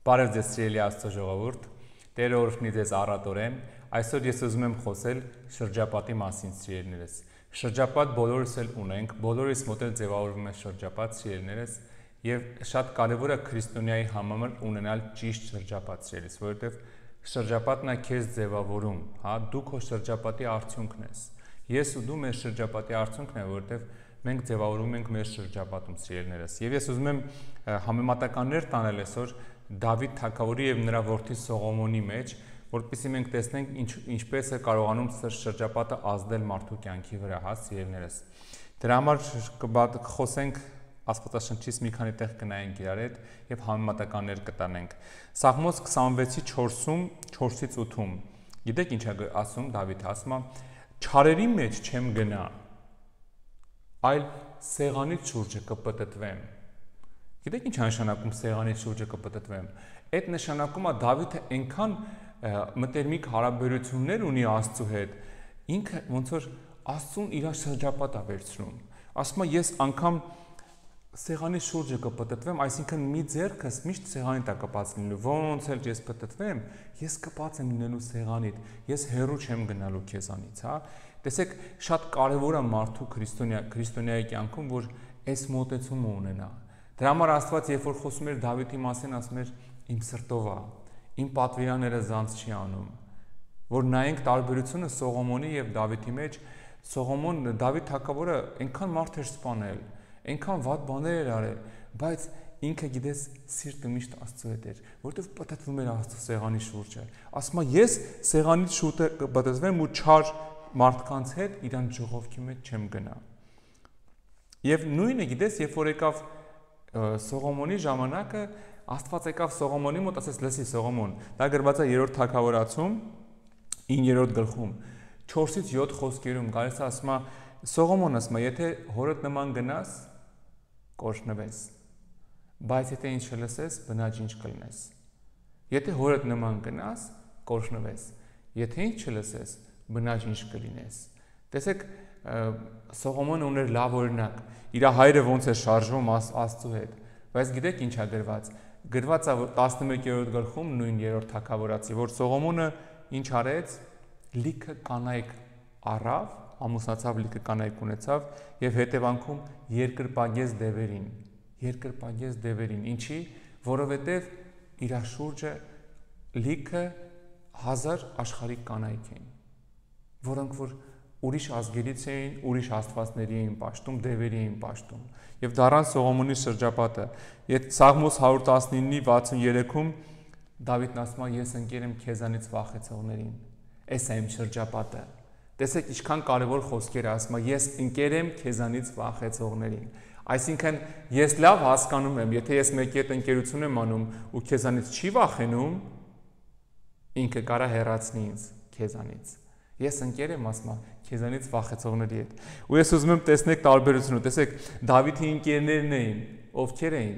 Բարև ձեզ սիրելի Աստծո ժողովուրդ, Տերը օրհնի ձեզ առատորեն։ Այսօր ես ուզում եմ խոսել շրջապատի մասին, սիրելիներս։ Շրջապատ բոլորս էլ ունենք, բոլորիս մոտ էլ ձևավորվում է շրջապատ, սիրելիներս, եւ շատ կարեւոր է քրիստոնյայի համար ունենալ ճիշտ շրջապատ, սիրելիս, որովհետեւ շրջապատն է քեզ ձևավորում, հա, դու քո շրջապատի արդյունքն ես։ Ես ու դու մեր շրջապատի արդյունքն է, որովհետեւ մենք ձևավորում ենք մեր շրջապատում, սիրելիներս։ Եվ ես ուզում եմ համեմատականներ տանել այսօր Դավիթ թագավորի եւ նրա որդի Սողոմոնի մեջ, որպեսզի մենք տեսնենք ինչպես է կարողանում շրջապատը ազդել մարդու կյանքի վրա, հա, սիրելիներս։ Դրա համար կխոսենք Աստվածաշնչից մի քանի տեղ կնայենք իրար հետ եւ համեմատականներ կտանենք։ Սաղմոս 26-ի 4-ում, 4-ից 8-ում։ Գիտեք ինչ է ասում Դավիթը, ասում է. «Չարերի մեջ չեմ գնա, այլ սեղանի շուրջը կպտտվեմ»։ Գիտեք ինչ է նշանակում սեղանի շուրջը կպտտվեմ։ Այդ նշանակում է Դավիթը այնքան մտերմիկ հարաբերություններ ունի Աստծու հետ, ինքը ոնց որ Աստծուն իր շրջապատ է վերցնում։ Ասում է ես անգամ սեղանի շուրջը կպտտվեմ, այսինքն մի ձեռքս միշտ սեղանի տակ կպած լինելու, ոնց էլ ես պտտվեմ, ես կպած եմ լինելու սեղանիդ, ես հեռու չեմ գնալու քեզանից, հա։ Տեսեք, շատ կարևոր է մարդու քրիստոնյայի կյանքում, որ այս մոտեցումը ունենա։ Դրա համար Աստված, երբ որ խոսում էր Դավիթի մասին, ասում էր իմ սրտով է, իմ պատվիրանները զանց չի անում, որ նայենք տարբերությունը Սողոմոնի եւ Դավիթի մեջ, Դավիթ թագավորը այնքան մարդ էր սպանել, այնքան վատ բաներ էր արել, բայց ինքը գիտես սիրտը միշտ Աստծո հետ էր, որովհետև պտտվում էր Աստծո սեղանի շուրջը։ Ասում է ես սեղանի շուրջը կպտտվեմ ու չար մարդկանց հետ իրանց ժողովքի մեջ չեմ գնա։ Եւ նույնը գիտես, երբ որ եկավ Սողոմոնի ժամանակը, Աստված եկավ Սողոմոնի մոտ, ասեց լսի Սողոմոն, դա գրված է 3-րդ թագավորացում 9-րդ գլխում 4-ից 7 խոսքերում գալիս է, ասում է Սողոմոն ասում է, եթե հորդ նման գնաս, կօրհնվես, բայց եթե ինչ չլսես, բնաջինջ կլինես։ Եթե հորդ նման գնաս, կօրհնվես, եթե ինչ չլսես, բնաջինջ կլինես։ Տեսեք, Սողոմոնը ուներ լավ օրինակ, իր հայրը ոնց է շարժվում Աստծու հետ, բայց գիտեք ինչ է գրված։ Գրված է 11-րդ գլխում նույն 3-րդ թագավորացի, որ Սողոմոնը ինչ արեց, լիքը կանայք առավ, ամուսնացավ, լիքը կանայք ունեցավ եւ հետևանքում երկրպագեց դևերին, ինչի, որովհետեւ իր շուրջը լիքը 1000 աշխարհիկ կանայք էին, որոնք որ ուրիշ ազգերից էին, ուրիշ աստվածների էին պաշտում, դևերի էին պաշտում։ Եվ դառան Սողոմոնի շրջապատը։ Այդ Սաղմոս 119-ի 63-ում Դավիթն ասում է ես ընկեր եմ քեզանից վախեցողներին։ Էս է իմ շրջապատը։ Տեսեք ինչքան կարևոր խոսքեր է, ասում է ես ընկեր եմ քեզանից վախեցողներին։ Այսինքն ես լավ հասկանում եմ, եթե ես մեկի հետ ընկերություն եմ անում ու քեզանից չի վախենում, ինքը կարա հեռացնի ինձ քեզանից։ Ես ընկեր եմ, ասում եմ, քեզանից վախեցողների հետ։ Ու ես ուզում եմ տեսնեք տարբերությունը, տեսեք, Դավիթի ընկերներն էին, ովքեր էին։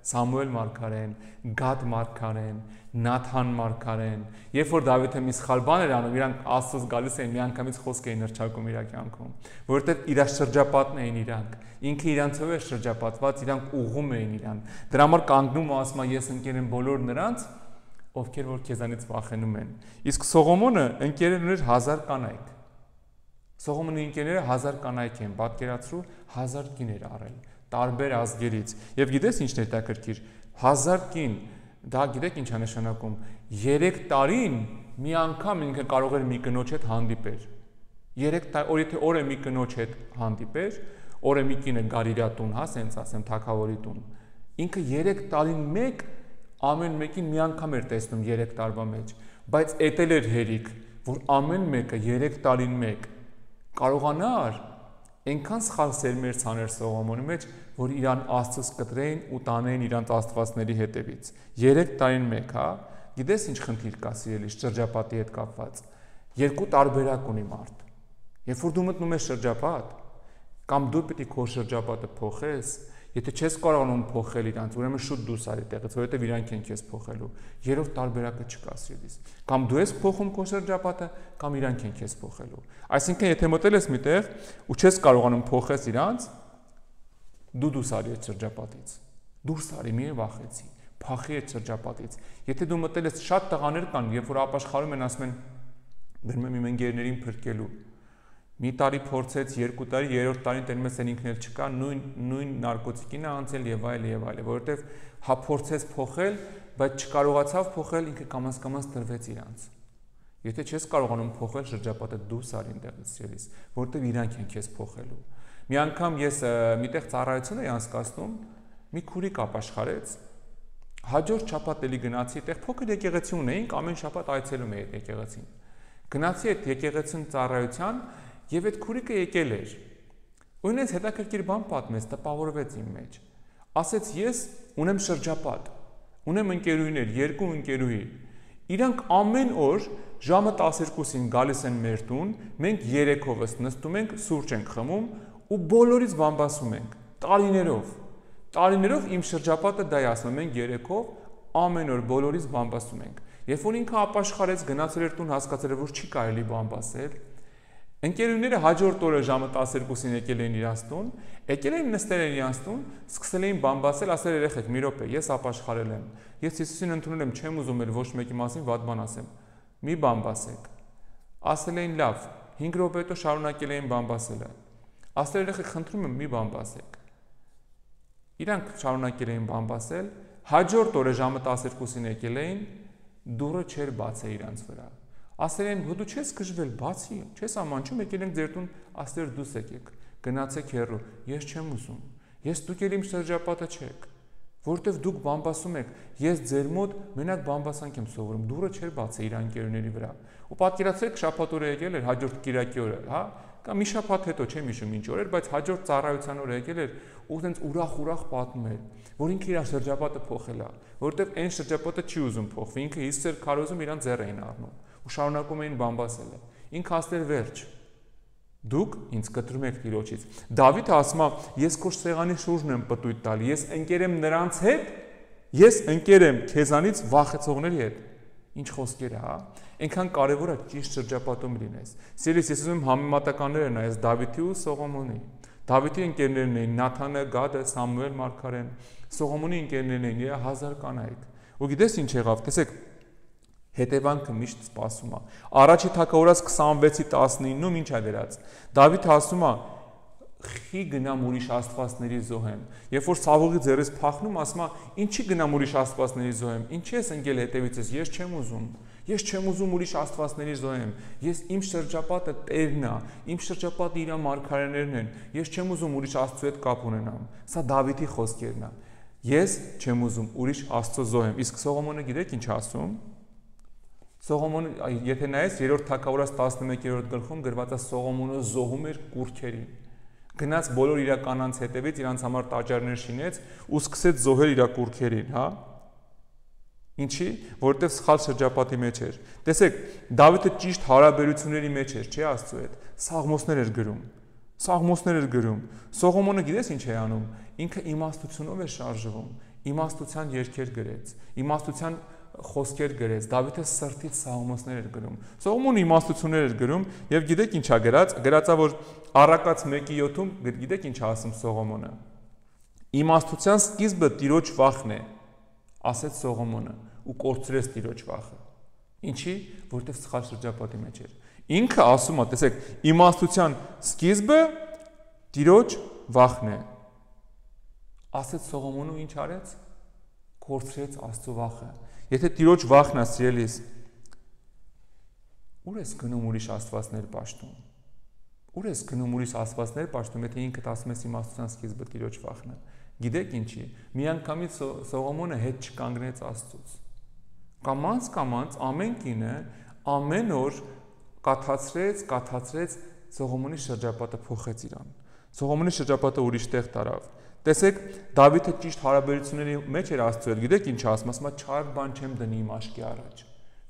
Սամուել մարգարեն, Գադ մարգարեն, Նաթան մարգարեն։ Երբ որ Դավիթը մի սխալ բան էր անում, իրանք Աստծուց գալիս էին, միանգամից խոսք էին հռչակում իր կյանքում, որովհետև իր շրջապատն էին իրանք։ Ինքը իրանցով էր շրջապատված, իրանք ուղղում էին իրան։ Դրա համար կանգնում ու ասում է ես ընկեր եմ բոլոր նրանց, ովքեր որ քեզանից վախենում են։ Իսկ Սողոմոնը ընկերներ ուներ 1000 կանայք։ Սողոմոնի ընկերները 1000 կանայք են, պատկերացրու 1000 կին էր առել, տարբեր ազգերից։ Եվ գիտես ինչն է հետաքրքիր, 1000 կին, դա գիտեք ինչ է նշանակում, 3 տարին մի անգամ ինքը կարող էր մի կնոջ հետ հանդիպեր։ 3 տարի, եթե օրը մի կնոջ հետ հանդիպեր, օրը մի կինը գար իր տուն, հա, սենց ասեմ, թագավորի տուն։ Ինքը 3 տարին մեկ ամեն մեկին մի անգամ էր տեսնում 3 տարվա մեջ, բայց էտել էր հերիք, որ ամեն մեկը 3 տարին մեկ կարողանար այնքան սխալ սերմեր ցաներ Սողոմոնի մեջ, որ իրան Աստծուց կտրեին ու տանեին իրանց աստվածների հետևից։ 3 տարին մեկ, հա, գիտես ինչ խնդիր կա սիրելի շրջապատի հետ կապված։ Երկու տարբերակ ունի մարդ։ Երբ որ դու մտնում ես շրջապատ, կամ դու պիտի քո շրջապատը փոխես, եթե չես կարողանում փոխել իրանց, ուրեմն շուտ դուրս արի տեղից, որովհետև իրանք են քեզ փոխելու։ Երրորդ տարբերակը չկա սիրելիս։ Կամ դու ես փոխում քո շրջապատը, կամ իրանք են քեզ փոխելու։ Այսինքն, եթե մտել ես միտեղ ու չես կարողանում փոխես իրանց, դու դուրս արի այդ շրջապատից։ Դուրս արի, մի վախեցի, Փախի այդ շրջապատից։ Եթե դու մտել ես, շատ տղաներ կան, երբ որ ապաշխարում են, ասում են գնում եմ իմ ընկերներին փրկելու։ Մի տարի փորձեց, 2 տարի, 3-րդ տարին տենում ես ինքն էլ չկա, նույն նարկոտիկին է անցել եւ այլ, որովհետեւ հա փորձեց փոխել, բայց չկարողացավ փոխել, ինքը կամաց տրվեց իրանց։ Եթե չես կարողանում փոխել շրջապատը, դուրս արի այնտեղից ցելիս, որովհետեւ իրանք են քեզ փոխելու։ Մի անգամ ես միտեղ ծառայություն էի անցկացնում, մի քուրիկ ապաշխարեց, հաջորդ շաբաթ էլի գնացի, այդտեղ փոքր եկեղեցի ունեինք, ամեն շաբաթ այցելում էի այդ եկեղեցին։ Գնացի այդ եկեղեցուն ծառայության եւ այդ քուրիկը եկել էր։ Ու ինձ հետաքրքիր բան պատմեց, տպավորվեց իմ մեջ։ Ասեց ես ունեմ շրջապատ, ունեմ ընկերուհիներ, 2 ընկերուհի։ Իրանք ամեն օր ժամը 12-ին գալիս են մեր տուն, մենք 3-ով նստում ենք, սուրճ ենք խմում ու բոլորից բամբասում ենք, տարիներով իմ շրջապատը դա է ասում, մենք 3-ով ամեն օր բոլորից բամբասում ենք։ Երբ որ ինքը ապաշխարեց, գնացել էր տուն, հասկացել էր, որ չի կարելի բամբասել, ընկերուները հաջորդ օրը ժամը 12-ին եկել էին իրանց տուն, եկել էին նստել են իրանց տուն, սկսել էին բամբասել, ասել երեխեք, մի րոպե, ես ապաշխարել եմ, ես Հիսուսին ընդունել եմ, չեմ ուզում էլ ոչ մեկի մասին վատ բան ասեմ, մի բամբասեք։ Ասել էին լավ, 5 րոպե հետո շարունակել էին բամբասելը։ Ասել երեխեք, խնդրում եմ, մի բամբասեք։ Իրանք շարունակել էին բամբասել, հաջորդ օրը ժամը 12-ին եկել էին, դուռը չէր բացել իրանց վրա։ Ասել են, դու չես գժվել, բացի, չես ամանչում, եկել ենք ձեր տուն, ասել դուս եկեք, գնացեք հեռու, ես չեմ ուզում, ես դուք էլ իմ շրջապատը չեք, որովհետև դուք բամբասում եք, ես ձեր մոտ մենակ բամբասանք եմ սովորում, դուռը չէր բացել իր ընկերուների վրա։ Ու պատկերացրեք, շաբաթ օրը եկել էր, հաջորդ կիրակի օրը, հա, կամ մի շաբաթ հետո չեմ հիշում ինչ օր էր, բայց հաջորդ ծառայության օրը եկել էր ու տենց ուրախ պատմում էր, որ ինքը իր շրջապատը փոխել է, որովհետև այն շրջապատը չի ուզում փոխվի, ինքը Հիսուսը քարոզում իրան ձեռ էին առնում ու շարունակում էին բամբասելը։ Ինքը ասել վերջ։ Դուք ինձ կտրում եք Տիրոջից։ Դավիթը ասում է, ես քո սեղանի շուրջն եմ պտույտ տալի, ես ընկերեմ նրանց հետ, ես ընկերեմ քեզանից վախեցողների հետ։ Ինչ խոսքեր է, հա։ Այնքան կարևոր է ճիշտ շրջապատում լինես։ Սիրելիս, ես ուզում եմ համեմատականները նայես Դավիթի ու Սողոմոնի։ Դավիթի ընկերներն էին Նաթանը, Գադը, Սամուել մարգարեն, Սողոմոնի ընկերներն էին 1000 կանայք։ Ու գիտես ինչ եղավ, տեսեք, հետևանքը միշտ սպասում է։ Առաջի թագավորաց 26:19-ում ինչ է դրած։ Դավիթը ասում է. «Խի գնամ ուրիշ աստվածների զոհեմ»։ Երբ որ Սավուղի ձեռից փախնում, ասում է. «Ինչի գնամ ուրիշ աստվածների զոհեմ։ Ինչի ես ընկել հետևից, ես չեմ ուզում։ Ես չեմ ուզում ուրիշ աստվածների զոհեմ։ Ես իմ շրջապատը Տերն է, իմ շրջապատը իր մարգարեներն են։ Ես չեմ ուզում ուրիշ Աստծո հետ կապ ունենամ»։ Սա Դավիթի խոսքերն են։ Ես չեմ ուզում ուրիշ Աստծո զոհեմ։ Իսկ Սողոմոնը գիտեք ինչ ասում։ Սողոմոնը, եթե նայես 3-րդ թագավորաց 11-րդ գլխում գրված է Սողոմոնը զոհում էր կուռքերին։ Գնաց բոլոր իր կանանց հետևից, իրանց համար տաճարներ շինեց ու սկսեց զոհել իր կուռքերին, հա։ Ինչի, որովհետև սխալ շրջապատի մեջ էր։ Տեսեք, Դավիթը ճիշտ հարաբերությունների մեջ էր, չէ՞ Աստծո հետ։ Սաղմոսներ էր գրում։ Սողոմոնը գիտես ինչ է անում։ Ինքը իմաստությունով է շարժվում, իմաստության երգեր գրեց, իմաստության խոսքեր գրեց, Դավիթը սրտից սաղմոսներ էր գրում։ Սողոմոնը իմաստություններ էր գրում եւ գիտեք ինչ է գրած, գրածա որ Առակաց 1:7-ում գիտեք ինչ է ասում Սողոմոնը։ Իմաստության սկիզբը Տիրոջ վախն է, ասեց Սողոմոնը ու կորցրեց Տիրոջ վախը։ Ինչի, որովհետեւ սխալ շրջապատի մեջ էր։ Ինքը ասում է, տեսեք, իմաստության սկիզբը Տիրոջ վախն է։ Ասեց Սողոմոնը ու ինչ արեց։ Կորցրեց Աստծո վախը։ Եթե Տիրոջ վախն է սիրելիս, ուր ես գնում ուրիշ աստվածներ պաշտում։ Ուր ես գնում ուրիշ աստվածներ պաշտում, եթե ինքդ ասում ես իմաստության սկիզբը Տիրոջ վախն է։ Գիտեք ինչի։ Միանգամից Սողոմոնը հետ չկանգնեց Աստծուց։ Կամած ամեն կինը ամեն օր կաթացրեց Սողոմոնի շրջապատը փոխեց իրան։ Սողոմոնի շրջապատը ուրիշ տեղ տարավ։ Տեսեք, Դավիթը ճիշտ հարաբերությունների մեջ էր Աստծո հետ, գիտեք ինչ ասում, ասում է չար բան չեմ դնի իմ աշկի առաջ։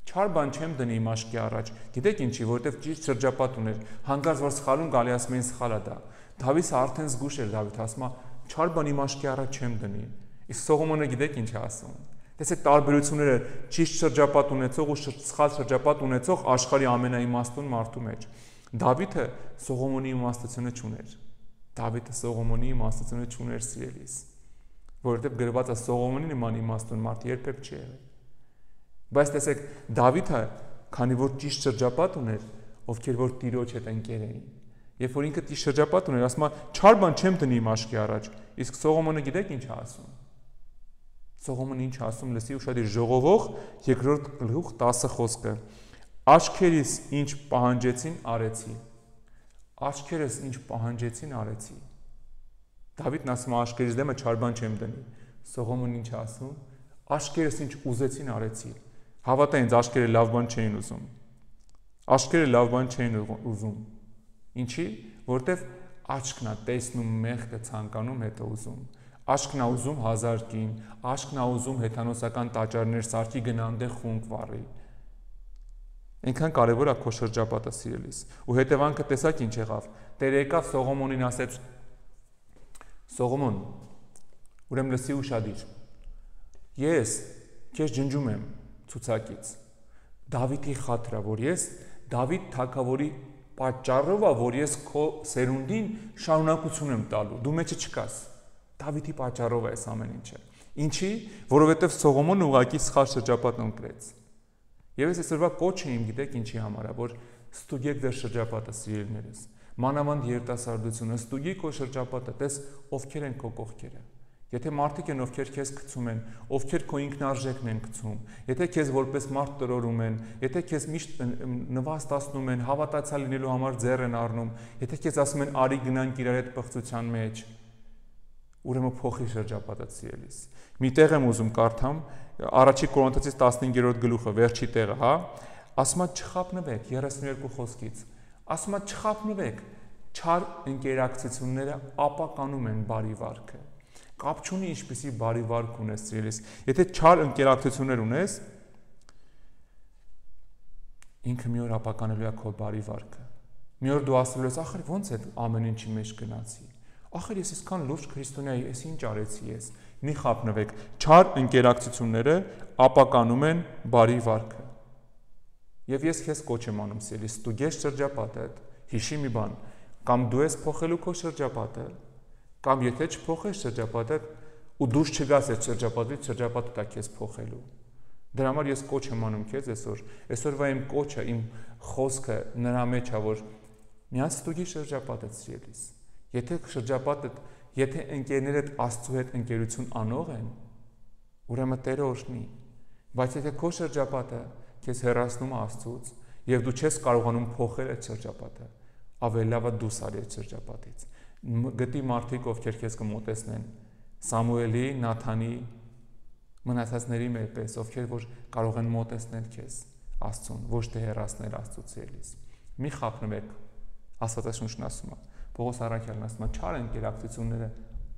Չար բան չեմ դնի իմ աշկի առաջ։ Գիտեք ինչի, որովհետև ճիշտ շրջապատ ուներ։ Հանկարծ որ սխալում գալի ասում էին սխալ է դա։ Դավիթը արդեն զգուշ էր, Դավիթ ասում է չար բան իմ աշկի առաջ չեմ դնի։ Իսկ Սողոմոնը գիտեք ինչ է ասում։ Տեսեք տարբերությունները ճիշտ շրջապատ ունեցող ու սխալ շրջապատ ունեցող աշխարհի ամենաիմաստուն մարդու մեջ։ Դավիթը Սողոմոնի իմաստությունը չուներ։ Դավիթը Սողոմոնի իմաստությունը չուներ սիրելիս, որովհետև գրված է Սողոմոնի նման իմաստուն մարդ երբեք չի եղել։ Բայց տեսեք, Դավիթը, քանի որ ճիշտ շրջապատ ուներ, ովքեր որ Տիրոջ հետ ընկեր էին, երբ որ ինքը ճիշտ շրջապատ ուներ, ասում է, չար բան չեմ դնի իմ աչքի առաջ, իսկ Սողոմոնը գիտեք ինչ է ասում։ Սողոմոնը ինչ ասում, լսի ուշադիր, Ժողովող 2-րդ գլուխ 10 խոսքը։ Աչքերիս ինչ պահանջեցին արեցի։ Աչքերս ինչ պահանջեցին արեցի։ Դավիթն ասում է, աչքերիս դեմը չար բան չեմ դնի։ Սողոմոնն ինչ ասում, աչքերս ինչ ուզեցին արեցի։ Հավատա ինձ, աչքերը լավ բան չէին ուզում։ Աչքերը լավ բան չէին ուզում։ Ինչի՞, որտեվ աչքն է տեսնում մեղքը, ցանկանում հետո ուզում։ Աչքն է ուզում 1000 կին, աչքն է ուզում հեթանոսական տաճարներ սարքի գնանդե խունկ վառի։ Այնքան կարևոր է քո շրջապատը սիրելիս։ Ու հետևանքը տեսակ ինչ եղավ։ Տերը եկավ Սողոմոնին ասեց. Սողոմոն, ուրեմն լսի ուշադիր։ Ես քեզ ջնջում եմ ցուցակից։ Դավիթի խաթրա, որ ես Դավիթ թագավորի պատճառով է, որ ես քո սերունդին շարունակություն եմ տալու։ Դու մեջը չկաս։ Դավիթի պատճառով է այս ամեն ինչը։ Ինչի՞, որովհետև Սողոմոնը ուղղակի սխալ շրջապատ ընտրեց։ Եվ ես այսօրվա կոչ եմ, գիտեք ինչի համար է, որ ստուգեք ձեր շրջապատը, սիրելիներս։ Մանավանդ երիտասարդությունը, ստուգի քո շրջապատը, տես ովքեր են քո կողքերը։ Եթե մարդիկ են, ովքեր քեզ գցում են, ովքեր քո ինքնարժեքն են գցում, եթե քեզ որպես մարդ տրորում են, եթե քեզ միշտ նվաստացնում են, հավատացյալ լինելու համար ձեռ են առնում, եթե քեզ ասում են արի գնանք իրար հետ պղծության մեջ, ուրեմն փոխի շրջապատը, սիրելիս։ Մի տեղ եմ ուզում կարդամ, Առաջի Կորինթացիս 15-րդ գլուխը, վերջի տեղը, հա, ասում է չխաբնվեք 32 խոսքից։ Ասում է չխաբնվեք, չար ընկերակցությունները ապականում են բարի վարքը։ Կապ չունի ինչպիսի բարի վարք ունես, սիրելիս։ Եթե չար ընկերակցություններ ունես, ինքը մի օր ապականելու է քո բարի վարքը։ Մի օր դու ասելու ես, ախր ո՞նց է ամեն ինչի մեջ գնացի։ Ախր ես այսքան լուրջ քրիստոնյա եմ, ես ինչ արեցի ես։ Մի խաբնվեք, չար ընկերակցությունները ապականում են բարի վարքը։ Եվ ես քեզ կոչ եմ անում, սիրելիս, ստուգես շրջապատդ, հիշի մի բան, կամ դու ես փոխելու քո շրջապատը, կամ եթե չփոխես շրջապատը ու դուրս չգաս այդ շրջապատից, շրջապատը դա քեզ փոխելու։ Դրա համար ես կոչ եմ անում քեզ այսօրվա իմ կոչը, իմ խոսքը նրա մեջ է, որ միած ստուգի շրջապատը, սիրելիս։ Եթե շրջապատը, եթե ընկերներդ Աստծո հետ ընկերություն անող են, ուրեմն Տերը օրհնի։ Բայց եթե քո շրջապատը քեզ հեռացնում է Աստծուց եւ դու չես կարողանում փոխել այդ շրջապատը, ավելի լավ է դուրս արի այդ շրջապատից։ Գտի մարդիկ, ովքեր քեզ կմոտեցնեն, Սամուելի, Նաթանի, մնացածների մեր պես, ովքեր որ կարող են մոտեցնել քեզ Աստծուն, ոչ թե հեռացնել Աստծուց ելիս։ Մի խաբնվեք, Աստվածաշունչն ասում է, Պողոս առաքյալն ասում է, չար ընկերակցությունները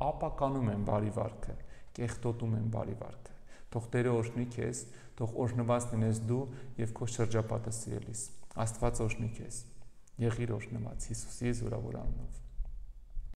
ապականում են բարի վարքը, կեղտոտում են բարի վարքը։ Թող Տերը օրհնի քեզ, թող օրհնված լինես դու եւ քո շրջապատը, սիրելիս։ Աստված օրհնի քեզ։ Եղիր օրհնված Հիսուսի զորավոր անունով։